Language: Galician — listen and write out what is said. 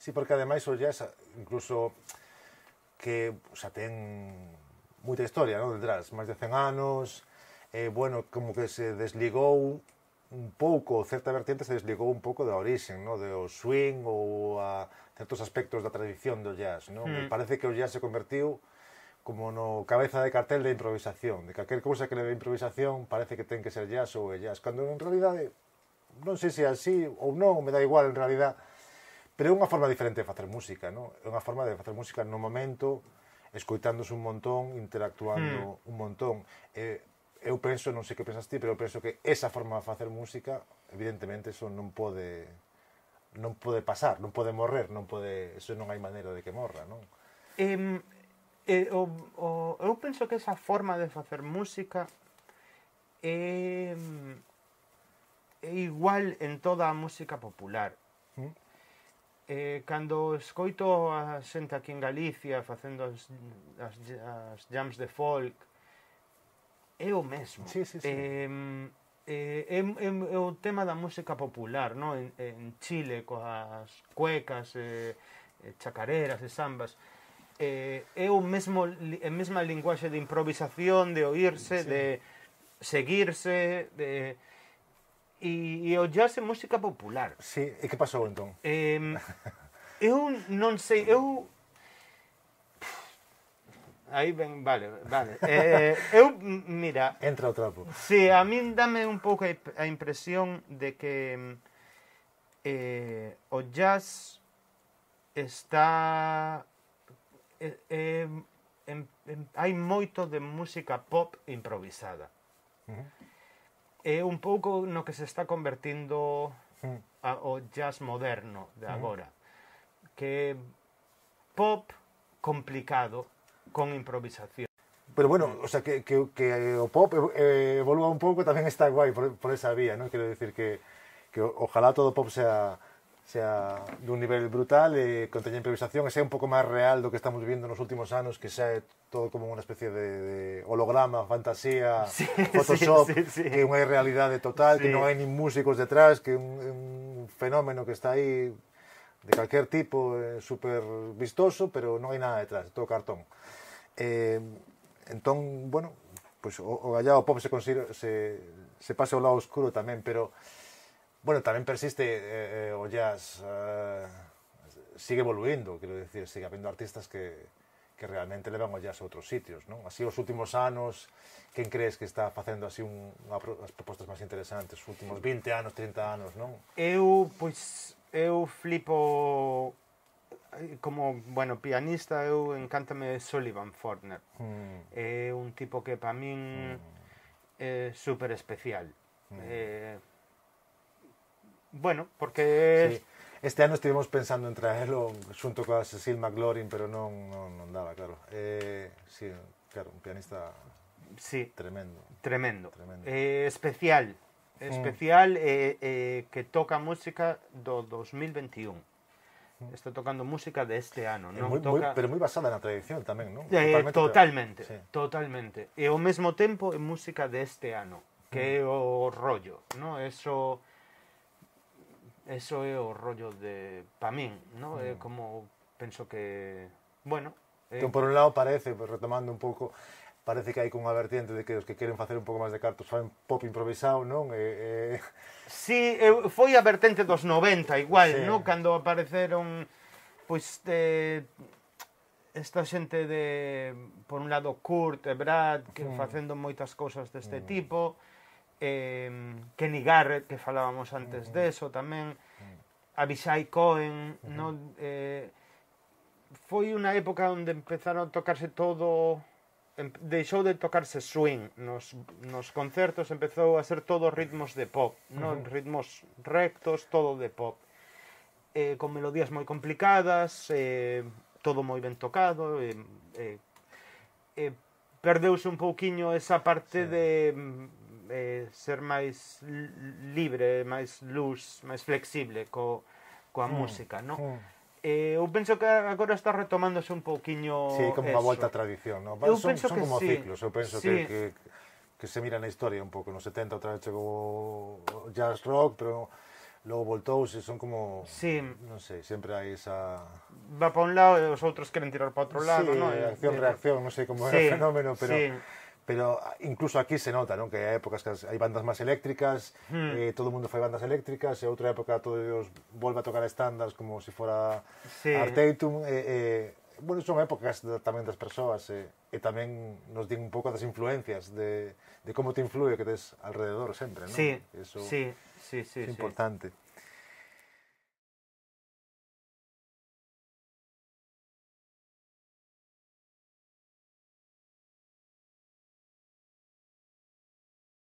Sí, porque ademais o jazz, incluso que, o sea, ten moita historia, non, detrás, máis de 100 anos, bueno, como que se desligou un pouco, certa vertiente se desligou un pouco da orixen, non, do swing ou a certos aspectos da tradición do jazz, non? E parece que o jazz se convertiu como no cabeza de cartel de improvisación, de calquer cousa que leve improvisación parece que ten que ser jazz ou é jazz, cando en realidade non sei se é así ou non, me dá igual en realidad, pero é unha forma diferente de facer música, non? É unha forma de facer música no momento, escoitándose un montón, interactuando un montón. Eu penso, non sei que pensas ti, pero eu penso que esa forma de facer música, evidentemente, eso non pode pasar, non pode morrer, eso non hai maneira de que morra, non? Eu penso que esa forma de facer música é igual en toda a música popular. Cando escoito a xente aquí en Galicia facendo as jams de folk, é o mesmo. Sí, sí, sí. É o tema da música popular, no? En Chile, coas cuecas, chacareras e sambas, é a mesma linguaxe de improvisación, de oírse, sí, de seguirse, e o jazz é música popular. Sí, e que pasou entón? Eu non sei, aí ben, vale. Eu, mira... Entra o trapo. Sí, a min dame un pouco a impresión de que o jazz está... hai moito de música pop improvisada. É un pouco no que se está convertindo o jazz moderno de agora, que é pop complicado con improvisación. Pero bueno, o sea, que o pop evolúa un pouco tamén está guai por esa vía, non? Quero decir que ojalá todo pop sea dun nivel brutal e conteña improvisación e sea un pouco máis real do que estamos vivindo nos últimos anos, que xa é todo como unha especie de holograma, fantasía, sí, Photoshop, sí. Que é unha irrealidade total, sí. Que non hai nin músicos detrás, que é un fenómeno que está aí de calquer tipo, super vistoso, pero non hai nada detrás, é todo cartón. Entón, bueno, pues o gallado pop se pasa ao lado oscuro tamén, pero bueno, tamén persiste o jazz, sigue evoluindo, quero dicir, sigue habendo artistas que realmente levan o jazz a outros sitios, non? Así, os últimos anos, quen crees que está facendo así as propostas máis interesantes, os últimos 20 anos, 30 anos, non? Eu flipo como, bueno, pianista, encántame Sullivan Fortner. É un tipo que para min é super especial. Bueno, porque... Sí. Este ano estivemos pensando en traelo xunto coa Cecil McLaurin, pero non daba, claro. Sí, claro, un pianista tremendo. Tremendo. Especial. Especial que toca música do 2021. Está tocando música deste ano. Pero moi basada na tradición tamén, non? Totalmente, sí. Totalmente. E ao mesmo tempo é música deste ano, que é o rollo, non? Eso é o rollo de... pa min, non? É como... penso que... bueno... Entón, por un lado, parece, retomando un pouco, parece que hai unha vertiente de que os que queren facer un pouco máis de cartos fan pop improvisado, non? Sí, foi a vertente dos 90, igual, sí. Non? Cando apareceron, pois, esta xente de... por un lado, Kurt e Brad, que facendo moitas cousas deste tipo... Kenny Garrett, que falábamos antes deso tamén, Avishai Cohen, non? Foi unha época onde empezaron a tocarse todo, deixou de tocarse swing nos concertos, empezou a ser todo ritmos de pop, non? Ritmos rectos, todo de pop, con melodías moi complicadas, todo moi ben tocado, perdeuse un pouquiño esa parte de ser máis libre, máis loose, máis flexible coa música, non? Eu penso que agora está retomándose un pouquiño. Sí, como unha volta á tradición, non? Son como ciclos, eu penso que se mira na historia un pouco, nos 70 outra vez chegou o jazz rock, pero logo voltouse, son como... Sí. Non sei, sempre hai esa... Va para un lado e os outros queren tirar para outro lado, Sí, non? acción-reacción, non sei como é o fenómeno, pero incluso aquí se nota, non? Que hai épocas que hai bandas máis eléctricas, todo o mundo fai bandas eléctricas, e outra época todos volve a tocar estándares como se fora Arteitum, bueno, son épocas tamén das persoas, e tamén nos din un pouco das influencias, de como te influe que tes alrededor sempre, non? Sí, Eso sí, é importante.